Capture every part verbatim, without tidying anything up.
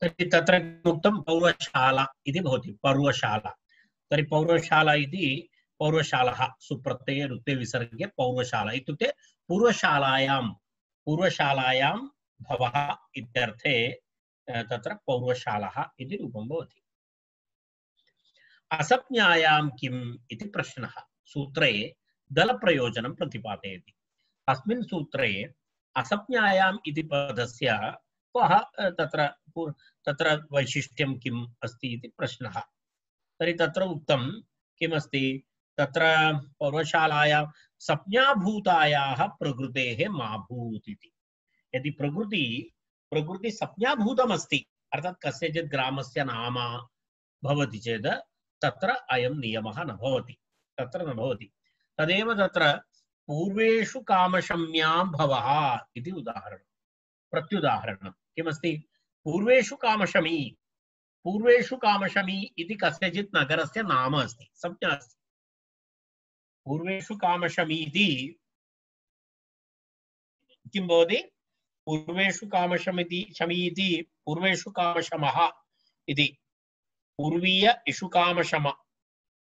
तर्हि तत्र उक्तं पौर्वशाला इति भवति पौर्वशाला तर्हि पौर्वशाला इति पौर्वशालाः सुप्रत्यये रुत्वे विसर्गे पौर्वशाला इत्युक्ते पूर्वशालायां पूर्वशालायां भवः इत्यर्थे तत्र पौर्वशालाः इति रूपं भवति। असप्ज्ञायां किम् इति प्रश्नः सूत्रे दलप्रयोजनं प्रतिपादयति। अस्मिन् सूत्रे असप्ज्ञायाम् इति पदस्य कः तत्र तत्र वैशिष्ट्यं किम् अस्ति इति प्रश्नः। तर्हि तत्र उक्तं किमस्ति तत्र पौर्वशालायां सप्ज्ञाभूतायाः प्रकृतेः मा भूत् इति। यदि प्रकृति प्रकृति सप्ज्ञाभूतमस्ति अर्थात् कस्यचित् ग्रामस्य नाम भवति चेत् तत्र अयं नियमः न भवति तत्र न भवति। तदेव तत्र पूर्वेषु कामशम्यां भवः इति उदाहरणं प्रत्युदाहरणं किमस्ति पूर्वेषु कामशमी पूर्वेषु कामशमी इति कस्यचित् नगरस्य नाम अस्ति संज्ञा अस्ति। पूर्वेषु कामशमी इति किं भवति पूर्वेषु कामशमिति शमी इति पूर्वेषु कामशमः इति पूर्वीय इषुकामशम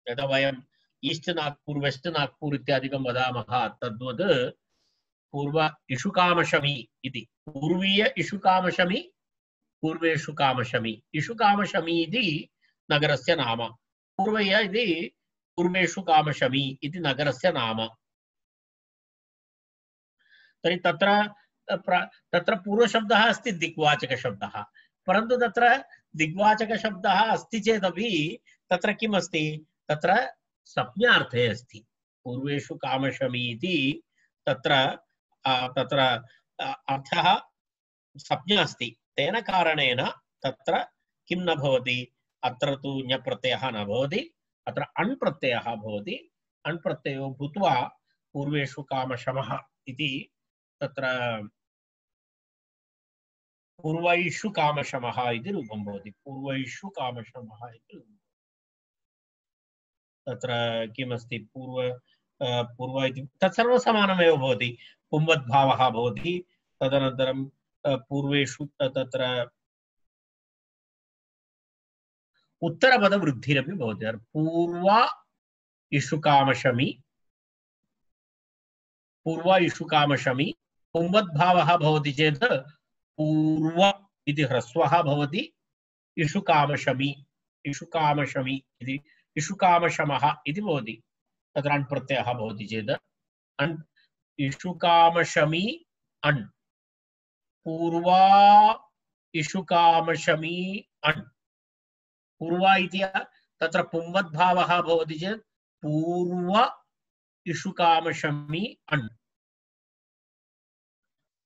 यदा वयम् ईस्ट नागपुर वेस्ट नागपुर इत्यादिकं वदामः तद्वत् पूर्व इषुकामशमी इति पूर्वीय इषुकामशमी पूर्वेषु कामशमी इषुकामशमी इति नगरस्य नाम पूर्वय इति पूर्वेषु कामशमी इति नगरस्य नाम। तर्हि तत्र तत्र पूर्वशब्दः अस्ति दिग्वाचकशब्दः परन्तु तत्र दिग्वाचकशब्दः अस्ति चेदपि तत्र किम् अस्ति तत्र संज्ञार्थे अस्ति। पूर्वेषु कामशमी इति तत्र तत्र अर्थः संज्ञा अस्ति तेन कारणेन तत्र किं न भवति अत्र तु ञप्रत्ययः न भवति अत्र अण् प्रत्ययः भवति। अण् प्रत्ययो भूत्वा पूर्वेषु कामशमः इति तत्र पूर्वैषु कामशमः इति रूपं भवति पूर्वैषु कामशमः इति रूपं। तत्र किमस्ति पूर्व पूर्व इति तत्सर्वं समानमेव भवति पुंवद्भावः भवति तदनन्तरं पूर्वेषु तत्र उत्तरपदवृद्धिरपि भवति पूर्व इषुकामशमी पूर्व इषुकामशमी पुंवद्भावः भवति चेत् पूर्व इति ह्रस्वः भवति इषुकामशमी इषुकामशमी इति इषुकामशमः इति भवति तत्र अण् प्रत्ययः भवति चेत् अण् इषुकामशमी अण् पूर्वा इषुकामशमी अण् पूर्वा इति तत्र पुंवद्भावः भवति चेत् पूर्व इषुकामशमी अण्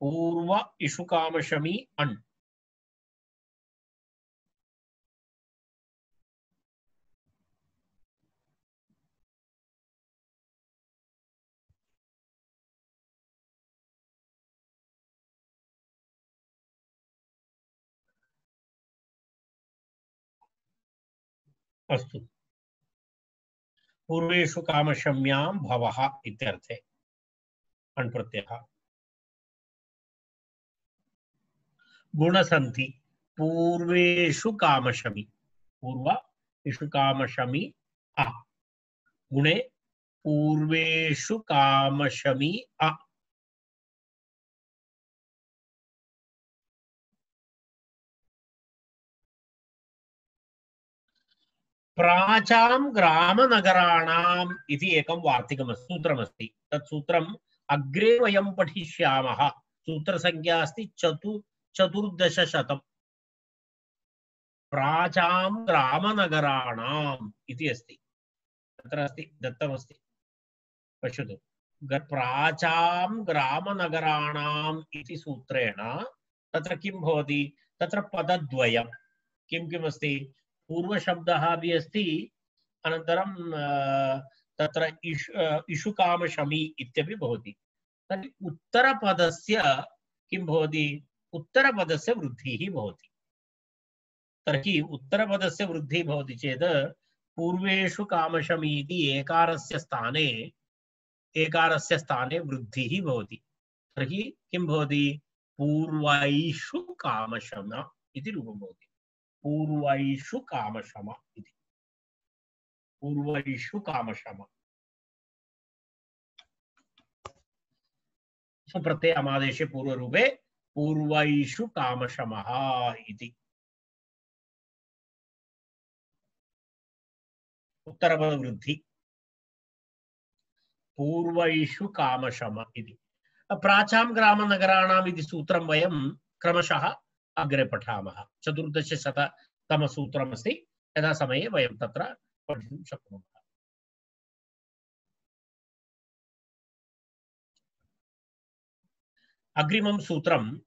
पूर्व इषुकामशमी अण्। अस्तु पूर्वेषु कामशम्यां भवः इत्यर्थे अण् प्रत्ययः। गुणसन्धि पूर्वेषु कामशमी पूर्व इषु कामशमी अ गुणे पूर्वेषु कामशमी अ प्राचां ग्रामनगराणाम् इति एकं वार्तिकमस्ति सूत्रमस्ति तत् सूत्रम् अग्रे वयं पठिष्यामः। सूत्रसंख्या अस्ति चतु चतुर्दशशतं प्राचां ग्रामनगराणाम् इति अस्ति तत्र अस्ति दत्तमस्ति पश्यतु प्राचां ग्रामनगराणाम् इति सूत्रेण तत्र किं भवति तत्र पदद्वयं किं किम् अस्ति पूर्वशब्दः अपि अस्ति अनन्तरं तत्र इषु इषुकामशमी इत्यपि भवति। तर्हि उत्तरपदस्य किं भवति उत्तरपदस्य वृद्धिः भवति। तर्हि उत्तरपदस्य वृद्धिः भवति चेत् पूर्वेषु कामशमी इति एकारस्य स्थाने एकारस्य स्थाने वृद्धिः भवति। तर्हि किं भवति पूर्वैषु कामशम इति रूपं भवति। पूर्वैषु कामशम इति पूर्वैषु कामशम सुप्रत्यय अमादेशे पूर्वरूपे पूर्वैषु कामशमः इति उत्तरपदवृद्धि पूर्वैषु कामशम इति प्राचां ग्रामनगराणाम् इति सूत्रं वयं क्रमशः अग्रे पठामः चतुर्दशशततमसूत्रमस्ति यदा समये वयं तत्र पठितुं शक्नुमः अग्रिमं सूत्रं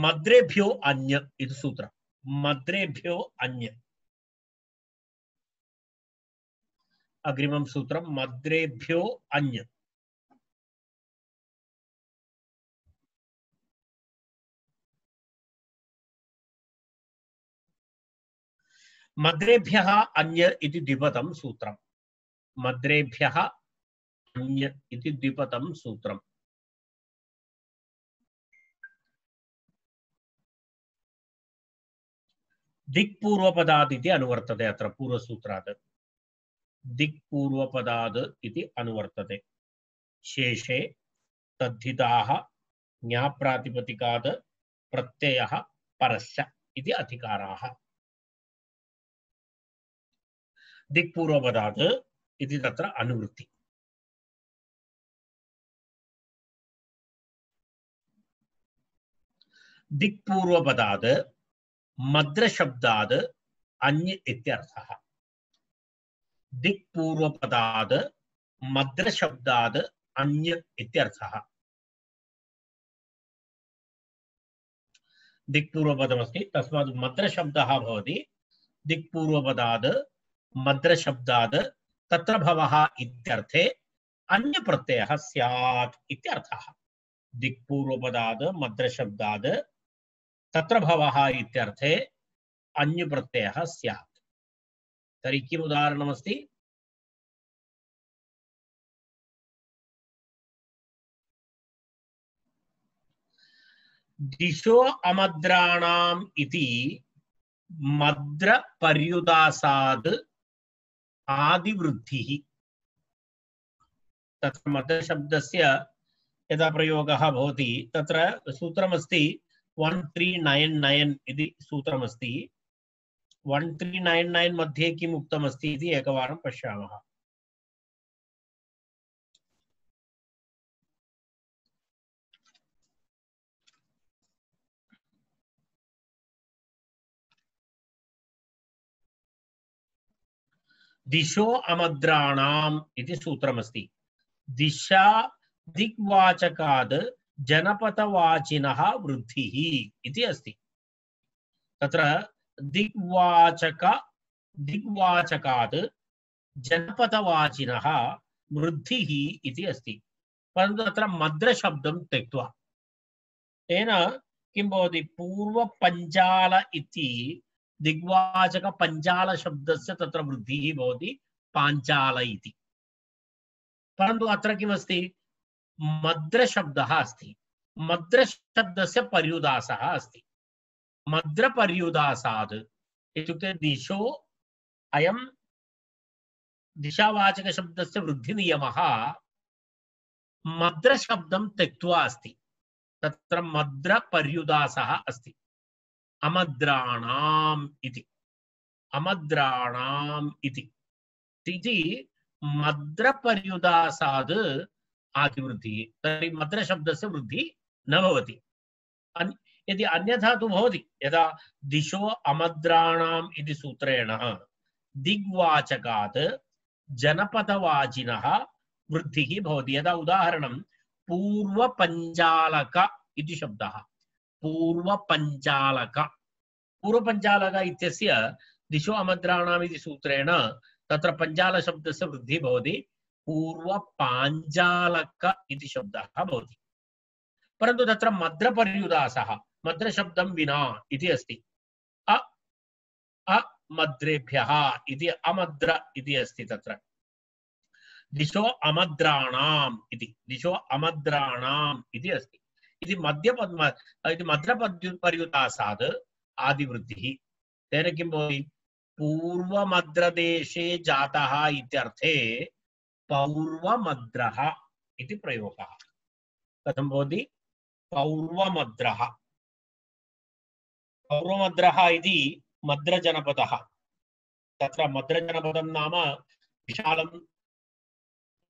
मद्रेभ्यो अन्य इति सूत्रं मद्रेभ्यो अन्य अग्रिमं सूत्रं मद्रेभ्यो अन्य मद्रेभ्यः अन्य इति द्विपदं सूत्रं मद्रेभ्यः अन्य इति द्विपदं सूत्रं दिक्पूर्वपदात् इति अनुवर्तते अत्र पूर्वसूत्रात् दिक्पूर्वपदात् इति अनुवर्तते शेषे तद्धिताः ज्ञाप्रातिपदिकात् प्रत्ययः परश्च इति अधिकाराः दिक्पूर्वपदात् इति तत्र अनुवृत्ति दिक्पूर्वपदात् मद्रशब्दात् अन्य इत्यर्थः दिक्पूर्वपदात् मद्रशब्दात् अन्य इत्यर्थः दिक्पूर्वपदमस्ति तस्मात् मद्रशब्दः भवति दिक्पूर्वपदात् मद्रशब्दात् तत्र भवः इत्यर्थे अन्य प्रत्ययः स्यात् इत्यर्थः दिक्पूर्वपदात् मद्रशब्दात् तत्र भवः इत्यर्थे अन्य प्रत्ययः स्यात् तर्हि किम् उदाहरणमस्ति दिशो अमद्राणाम् इति मद्र पर्युदासाद् आदिवृद्धिः तत्र मद्र शब्दस्य यदा प्रयोगः भवति तत्र सूत्रमस्ति वन थ्री नाइन नाइन इति सूत्रमस्ति वन थ्री नाइन नाइन मध्ये किम् उक्तमस्ति इति एकवारं पश्यामः दिशो अमद्राणाम् इति सूत्रमस्ति दिशा दिग्वाचकाद् जनपदवाचिनः वृद्धिः इति अस्ति तत्र दिग्वाचक दिग्वाचकाद् जनपदवाचिनः वृद्धिः इति अस्ति परन्तु तत्र मद्रशब्दं त्यक्त्वा तेन किं भवति पूर्वपञ्चाल इति दिग्वाचक पञ्चाल शब्दस्य तत्र वृद्धिः भवति पाञ्चाल इति परन्तु अत्र किमस्ति मद्रशब्दः अस्ति मद्रशब्दस्य पर्युदासः अस्ति मद्रपर्युदासाद् इत्युक्ते दिशो अयं दिशावाचकशब्दस्य वृद्धिनियमः मद्रशब्दं त्यक्त्वा अस्ति तत्र मद्रपर्युदासः अस्ति अमद्राणाम् इति अमद्राणाम् इति इति मद्रपर्युदासाद् आदिवृद्धिः तर्हि मद्रशब्दस्य वृद्धिः न भवति यदि अन्यथा तु भवति यदा दिशो अमद्राणाम् इति सूत्रेण दिग्वाचकात् जनपदवाचिनः वृद्धिः भवति यदा उदाहरणं पूर्वपञ्चालक इति शब्दः पूर्वपञ्चालक पूर्वपञ्चालक इत्यस्य दिशो अमद्राणाम् इति सूत्रेण तत्र पञ्चाल शब्दस्य वृद्धिः भवति पूर्वपाञ्चालक इति शब्दः भवति परन्तु तत्र मद्रपर्युदासः मद्रशब्दं विना इति अस्ति अ अमद्रेभ्यः इति अमद्र इति अस्ति तत्र दिशो अमद्राणाम् इति दिशो अमद्राणाम् इति अस्ति इति मध्यपद्म इति मद्रपर्युदासाद् आदिवृद्धिः तेन किं भवति पूर्वमद्रदेशे जातः इत्यर्थे पौर्वमद्रः इति प्रयोगः कथं भवति पौर्वमद्रः पौर्वमद्रः इति मद्रजनपदः तत्र मद्रजनपदं नाम विशालं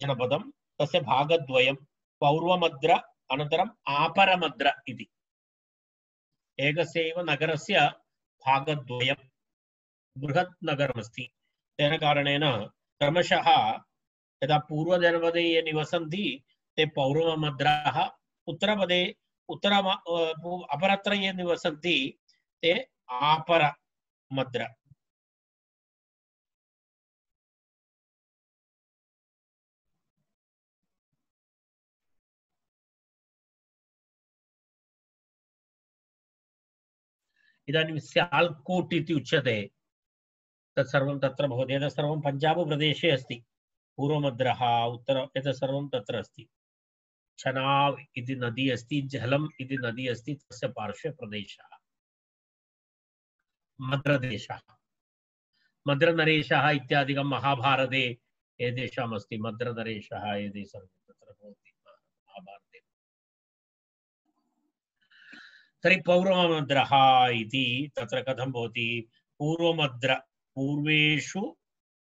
जनपदं तस्य भागद्वयं पौर्वमद्र अनन्तरम् आपरमद्र इति एकस्यैव नगरस्य भागद्वयं बृहत् नगरमस्ति तेन कारणेन क्रमशः यदा पूर्वजनपदे ये निवसन्ति ते पौर्वमद्राः उत्तरपदे उत्तर अपरत्र ये निवसन्ति ते आपरमद्र इदानीं स्याल्कोट् इति उच्यते तत्सर्वं तत्र भवति एतत् सर्वं पञ्जाब प्रदेशे अस्ति पूर्वमद्रः उत्तर एतत् सर्वं तत्र अस्ति चनाव् इति नदी अस्ति झलम् इति नदी अस्ति तस्य पार्श्वे प्रदेशः मद्रदेशः मद्रनरेशः इत्यादिकं महाभारते एतेषाम् अस्ति मद्रनरेशः एते सर्वे तत्र भवति महाभारते तर्हि पौर्वमद्रः इति तत्र कथं भवति पूर्वमद्र पूर्वेषु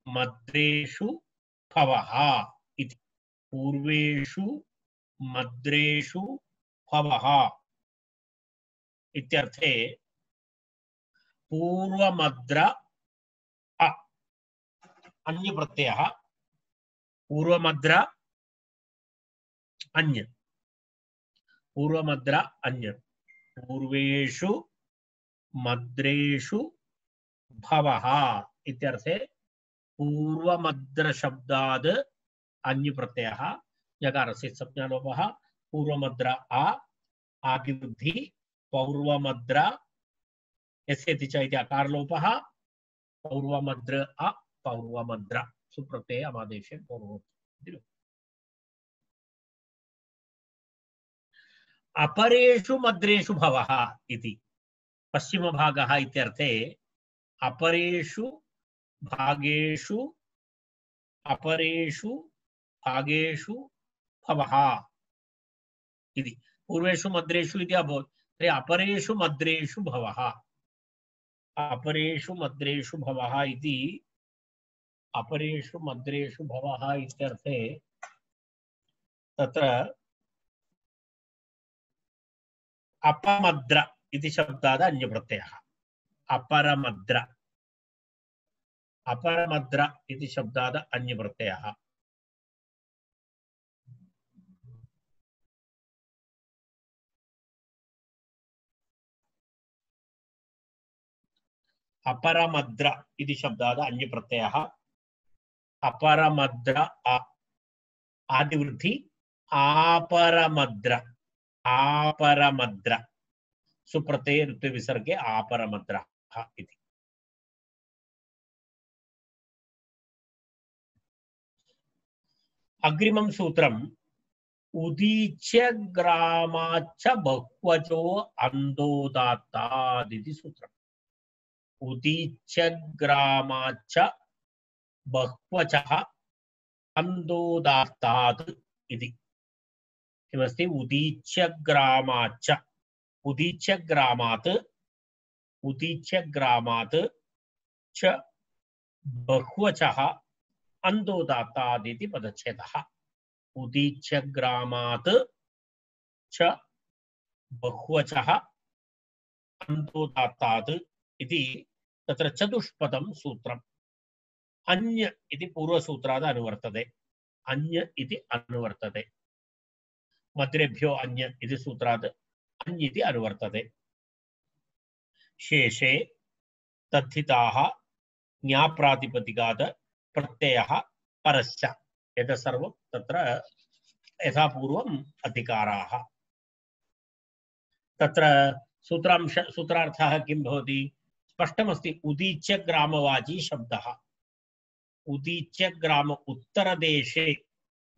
मद्रेषु भवः इति पूर्वेषु मद्रेषु भवः इत्यर्थे पूर्वमद्र अ अन्य प्रत्ययः पूर्वमद्र अन्य पूर्वमद्र अन्य पूर्वेषु मद्रेषु भवः इत्यर्थे पूर्वमद्र शब्दाद् अन्य प्रत्ययः यकारस्य संज्ञालोपः पूर्वमद्र आ आदिवृद्धि पौर्वमद्र यस्यति च इति अकारलोपः पौर्वमद्र अ पौर्वमद्र सुप्रत्यय अमादेशे पूर्वोक्तम् अपरेषु मद्रेषु भवः इति पश्चिमभागः इत्यर्थे अपरेषु भागेषु अपरेषु भागेषु भवः इति पूर्वेषु मद्रेषु इति अभवत् तर्हि अपरेषु मद्रेषु भवः अपरेषु मद्रेषु भवः इति अपरेषु मद्रेषु भवः इत्यर्थे तत्र अपमद्र इति शब्दात् अन्यप्रत्ययः अपरमद्र अपरमद्र इति शब्दात् अन्यप्रत्ययः अपरमद्र इति शब्दात् अन्यप्रत्ययः अपरमद्र आदिवृद्धि आपरमद्र आपरमद्र सुप्रत्यय ऋत्व विसर्गे आपरमद्रः इति अग्रिमं सूत्रम् उदीच्य ग्रामाच्च बहुवचो अन्दोदात्ताद् इति सूत्रम् उदीच्य ग्रामाच्च बहुवचः अन्दोदात्ताद् इति किमस्ति उदीच्य ग्रामाच्च उदीच्य ग्रामात् उदीच्य ग्रामात् च बहुवचः अन्दोदात्ताद् इति पदच्छेदः उदीच्य ग्रामात् च बहुवचः अन्दोदात्ताद् इति तत्र चतुष्पदं सूत्रम् अन्य इति पूर्वसूत्रात् अनुवर्तते अन्य इति अनुवर्तते मद्रेभ्यो अन्य इति सूत्रात् अन्य इति अनुवर्तते शेषे तद्धिताः ज्ञाप्रातिपदिकात् प्रत्ययः परश्च एतत् सर्वं तत्र यथा पूर्वम् अधिकाराः तत्र सूत्रांश सूत्रार्थः किं भवति स्पष्टमस्ति उदीच्य ग्रामवाची शब्दः उदीच्य ग्राम उत्तरदेशे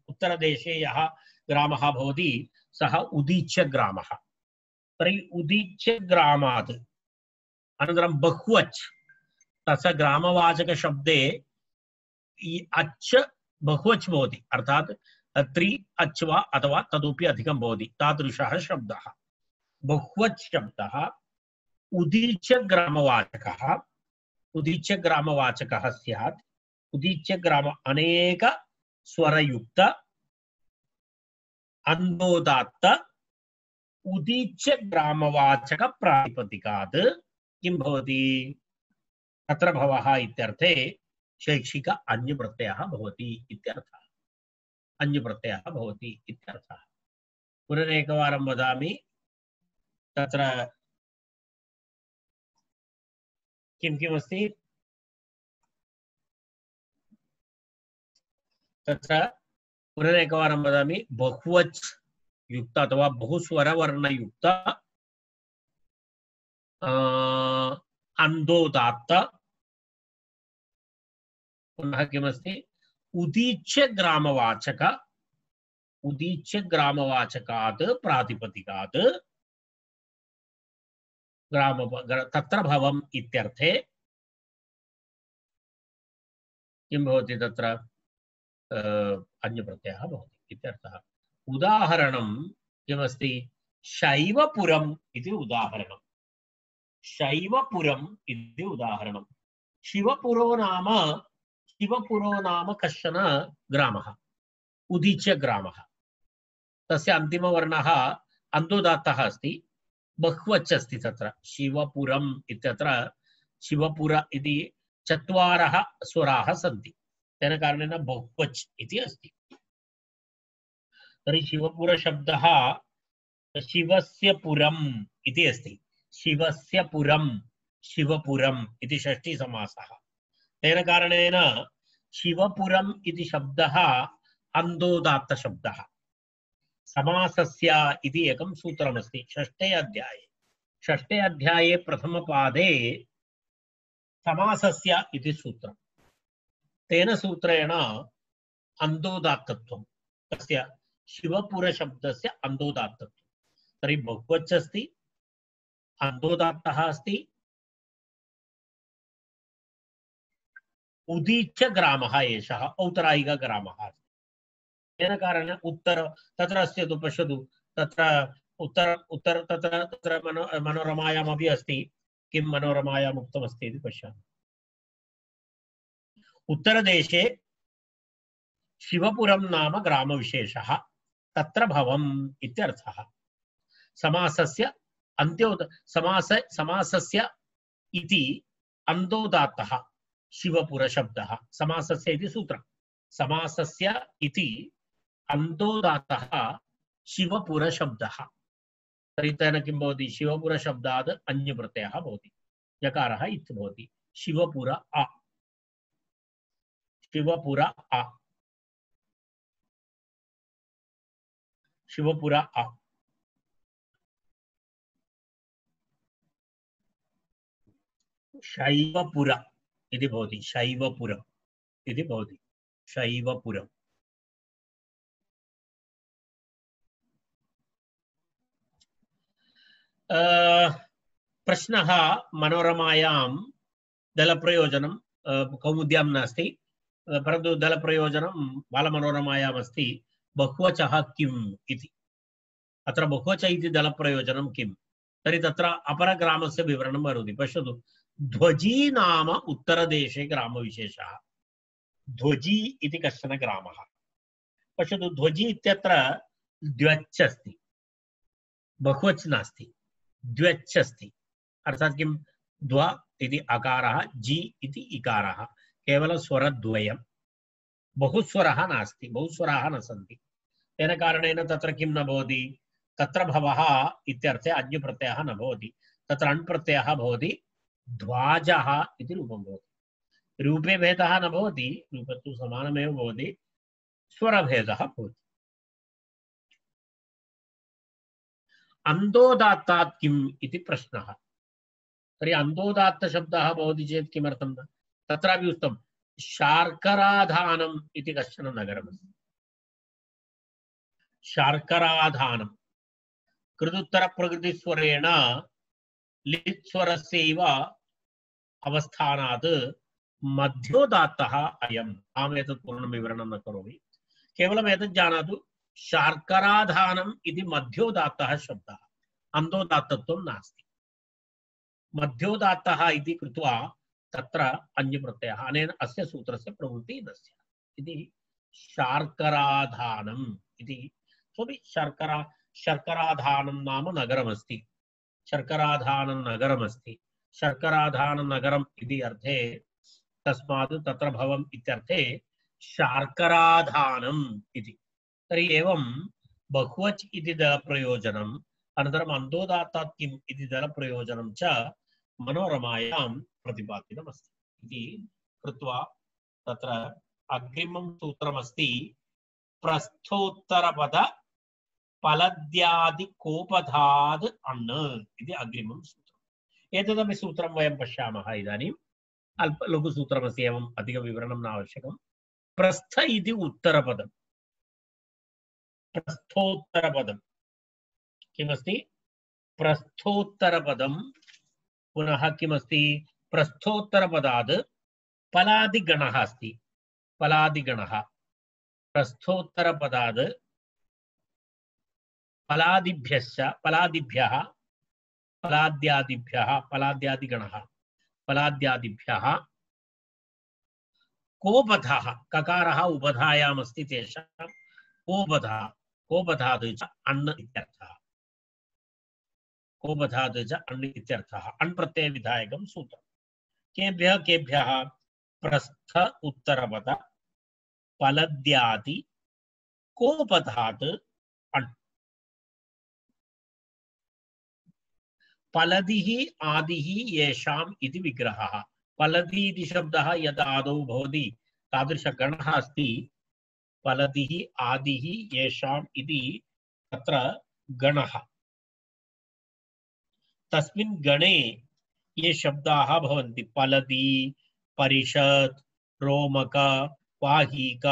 उत्तरदेशे यः ग्रामः भवति सः उदीच्य ग्रामः तर्हि उदीच्य ग्रामात् अनन्तरं बहुवच् तस्य ग्रामवाचकशब्दे अच् बहुवच् भवति अर्थात् त्रि अच् वा अथवा तदुपि अधिकं भवति तादृशः शब्दः बहुवच् शब्दः उदीच्य ग्रामवाचकः उदीच्य ग्रामवाचकः स्यात् उदीच्य ग्राम अनेक स्वरयुक्त अन्दोदात्त उदीच्य ग्रामवाचक प्रातिपदिकात् किं भवति तत्र भवः इत्यर्थे शैक्षिक अन्यप्रत्ययः भवति इत्यर्थः अन्यप्रत्ययः भवति इत्यर्थः पुनरेकवारं वदामि तत्र किं किम् अस्ति तत्र पुनरेकवारं वदामि बहुवच् युक्त अथवा बहुस्वरवर्णयुक्त अन्दोदात्त पुनः किमस्ति उदीच्य ग्रामवाचक उदीच्य ग्रामवाचकात् प्रातिपदिकात् ग्राम तत्र भवम् इत्यर्थे किं भवति तत्र अन्यप्रत्ययः भवति इत्यर्थः उदाहरणं किमस्ति शैवपुरम् इति उदाहरणं शैवपुरम् इति उदाहरणं शिवपुरो नाम शिवपुरो नाम कश्चन ग्रामः उदीच्य ग्रामः तस्य अन्तिमवर्णः अन्दोदात्तः अस्ति बहुवच् अस्ति तत्र शिवपुरम् इत्यत्र शिवपुर इति चत्वारः स्वराः सन्ति तेन कारणेन बहुवच् इति अस्ति तर्हि शिवपुर शब्दः शिवस्य पुरम् इति अस्ति शिवस्य पुरम् शिवपुरम् इति षष्ठी समासः तेन कारणेन शिवपुरम् इति शब्दः अन्दोदात्त शब्दः समासस्य इति एकं सूत्रमस्ति षष्ठे अध्याये षष्ठे अध्याये प्रथमपादे समासस्य इति सूत्रं तेन सूत्रेण अन्दोदात्तत्वं तस्य शिवपुर शब्दस्य अन्दोदात्तत्वं तर्हि बहुवच् अस्ति अन्दोदात्तः अस्ति उदीच्य ग्रामः एषः औतरायिक ग्रामः अस्ति तेन कारणेन उत्तर तत्र अस्ति तु पश्यतु तत्र उत्तर उत्तर तत्र तत्र मनो मनोरमायामपि अस्ति किं मनोरमायाम् उक्तमस्ति इति पश्यामः उत्तरदेशे शिवपुरं नाम ग्रामविशेषः तत्र भवम् इत्यर्थः समासस्य अन्त्योद समास समासस्य इति अन्दोदात्तः शिवपुर शब्दः समासस्य इति सूत्रं समासस्य इति अन्दोदात्तः शिवपुर शब्दः तर्हि तेन किं भवति शिवपुर शब्दात् अन्यप्रत्ययः भवति यकारः इति भवति शिवपुर अ शिवपुर अ शिवपुर अ शैवपुर इति भवति शैवपुर इति भवति शैवपुर प्रश्नः मनोरमायां दलप्रयोजनं कौमुद्यां नास्ति परन्तु दलप्रयोजनं बालमनोरमायाम् अस्ति बहुवचः किम् इति अत्र बहुवच इति दलप्रयोजनं किम् तर्हि तत्र अपरग्रामस्य विवरणं करोति पश्यतु ध्वजी नाम उत्तरदेशे ग्रामविशेषः ध्वजी इति कश्चन ग्रामः पश्यतु ध्वजी इत्यत्र द्व्यच् अस्ति बहुवच् नास्ति द्व्यच् अस्ति अर्थात् किं द्व इति अकारः जी इति इकारः केवलं स्वरद्वयं बहुस्वरः नास्ति बहुस्वराः न सन्ति तेन कारणेन तत्र किं न भवति तत्र भवः इत्यर्थे अन्यप्रत्ययः न भवति तत्र अण्प्रत्ययः भवति ध्वाजः इति रूपं भवति रूपे भेदः न भवति रूपत्तु समानमेव भवति स्वरभेदः भवति अन्दोदात्तात् किम् इति प्रश्नः तर्हि अन्दोदात्तशब्दः भवति चेत् किमर्थं न तत्रापि उक्तं शार्कराधानम् इति कश्चन नगरमस्ति शार्कराधानं कृदुत्तरप्रकृतिस्वरेण लिट् स्वरस्यैव अवस्थानात् मध्योदात्तः अयम्। अहम् एतत् पूर्णं विवरणं न करोमि, केवलम् एतत् जानातु शार्कराधानम् इति मध्योदात्तः शब्दः, अन्तोदात्तत्वं नास्ति। मध्योदात्तः इति कृत्वा तत्र अन्यप्रत्ययः, अनेन अस्य सूत्रस्य प्रवृत्तिः न स्यात् इति शार्कराधानम् इति। सोऽपि शर्करा शर्कराधानं नाम नगरमस्ति, शर्कराधानं नगरमस्ति, शर्कराधानं नगरम् इति अर्थे तस्मात् तत्र भवम् इत्यर्थे शार्कराधानम् इति। तर्हि एवं बहुवच् इति दलप्रयोजनम् अनन्तरम् अन्तोदात्तात् किम् इति दलप्रयोजनं च मनोरमायां प्रतिपादितमस्ति इति कृत्वा तत्र अग्रिमं सूत्रमस्ति प्रस्थोत्तरपद फलद्यादिकोपधाद् अण् इति अग्रिमं सूत्रम्। एतदपि सूत्रं वयं पश्यामः इदानीम्। अल्प लघुसूत्रमस्ति, एवम् अधिकविवरणं न आवश्यकम्। प्रस्थ इति उत्तरपदम्, प्रस्थोत्तरपदं किमस्ति? प्रस्थोत्तरपदं पुनः किमस्ति? प्रस्थोत्तरपदात् फलादिगणः अस्ति, फलादिगणः प्रस्थोत्तरपदात् फलादिभ्यश्च फलादिभ्यः फलाद्यादिभ्यः फलाद्यादिगणः फलाद्यादिभ्यः कोपधः, ककारः उपधायाम् अस्ति, तेषां कोपधः, कोपधात् च अण् इत्यर्थः, कोपधात् च अण् इत्यर्थः। अण् प्रत्ययविधायकं सूत्रम्। केभ्यः केभ्यः? प्रस्थ उत्तरपद फलद्यादि कोपधात् अण्। फलदिः आदिः येषाम् इति विग्रहः। फलदि इति शब्दः यद् आदौ भवति तादृशगणः अस्ति। फलदिः आदिः येषाम् इति तत्र गणः। तस्मिन् गणे ये शब्दाः भवन्ति, फलदि, परिषत्, रोमक, वाहीक,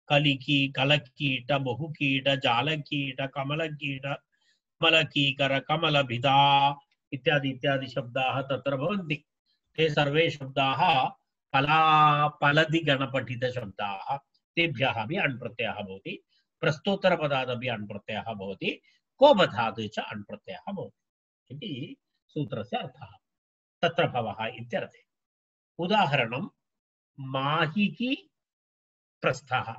कलिकी, कलकीट, बहुकीट, जालकीट, कमलकीट, कमलकीकर, कमलभिदा इत्यादि इत्यादि शब्दाः तत्र भवन्ति। ते सर्वे शब्दाः फला फलदि गणपठित शब्दाः। तेभ्यः अपि अण् प्रत्ययः भवति। प्रस्तोत्तरपदादपि अण् प्रत्ययः भवति। कोपधात् च अण् प्रत्ययः भवति इति सूत्रस्य अर्थः। तत्र भवः इत्यर्थे। उदाहरणं माहिकी प्रस्थः।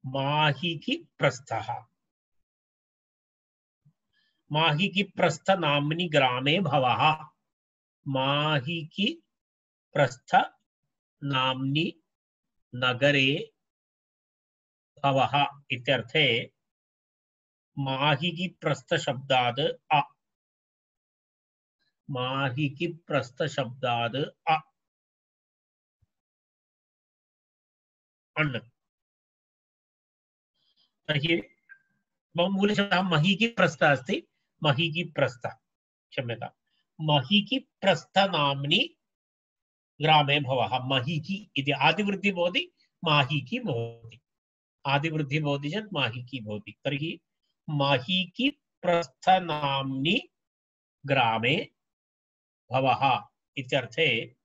माहिकी प्रस्थः, माहिकी प्रस्थ नाम्नि ग्रामे भवः। माहिकी प्रस्थ नाम्नि नगरे भवः इत्यर्थे माहिकी प्रस्थ शब्दात् अ, माहिकी प्रस्थ शब्दात् अ अण्। तर्हि मूलशब्दः महीकी प्रस्थ अस्ति, महीकी प्रस्थ, क्षम्यतां, महीकी प्रस्थ नाम्नि ग्रामे भवः। महीकी इति आदिवृद्धिः भवति, माहीकी भवति। आदिवृद्धिः भवति चेत् माहीकी भवति। तर्हि महीकी प्रस्थ नाम्नि ग्रामे भवः इत्यर्थे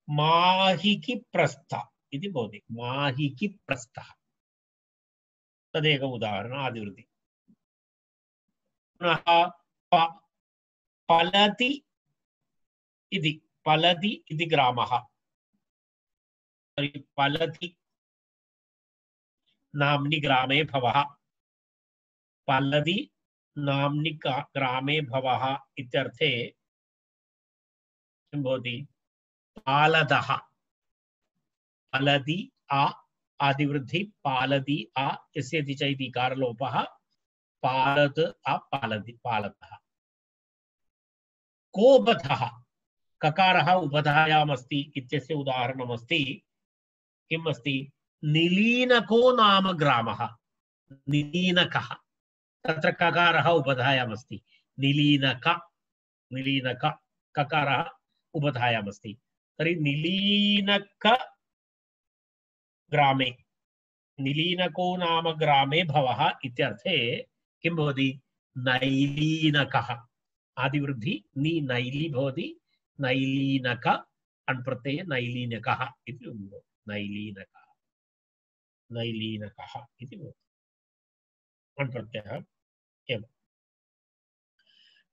माहिकी प्रस्थ इति भवति। माहिकी प्रस्थः तदेक उदाहरणम् आदिवृत्ति। पुनः फलति इति, फलति इति ग्रामः। तर्हि फलति नाम्नि ग्रामे भवः, फलति नाम्नि ग्रामे भवः इत्यर्थे किं भवति? पालदः, फलति आ आदिवृद्धि, पालति आ यस्यति च इति कारलोपः, पालत् आ पालति पालतः। कोपधः, ककारः उपधायाम् अस्ति इत्यस्य उदाहरणमस्ति। किम् अस्ति? निलीनको नाम ग्रामः। निलीनकः, तत्र ककारः उपधायाम् अस्ति, निलीनक निलीनक ककारः उपधायामस्ति तर्हि निलीनक ग्रामे निलीनको नाम ग्रामे भवः इत्यर्थे किं भवति नैलीनकः आदिवृद्धि नि नैली भवति नैलीनक अण्प्रत्यये नैलीनकः इति नैलीनकः नैलीनकः इति भवति अण्प्रत्ययः एवम्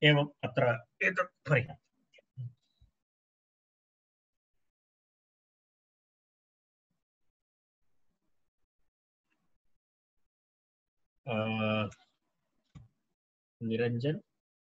एवम् अत्र एतत् पर्याप्तम् निरंजन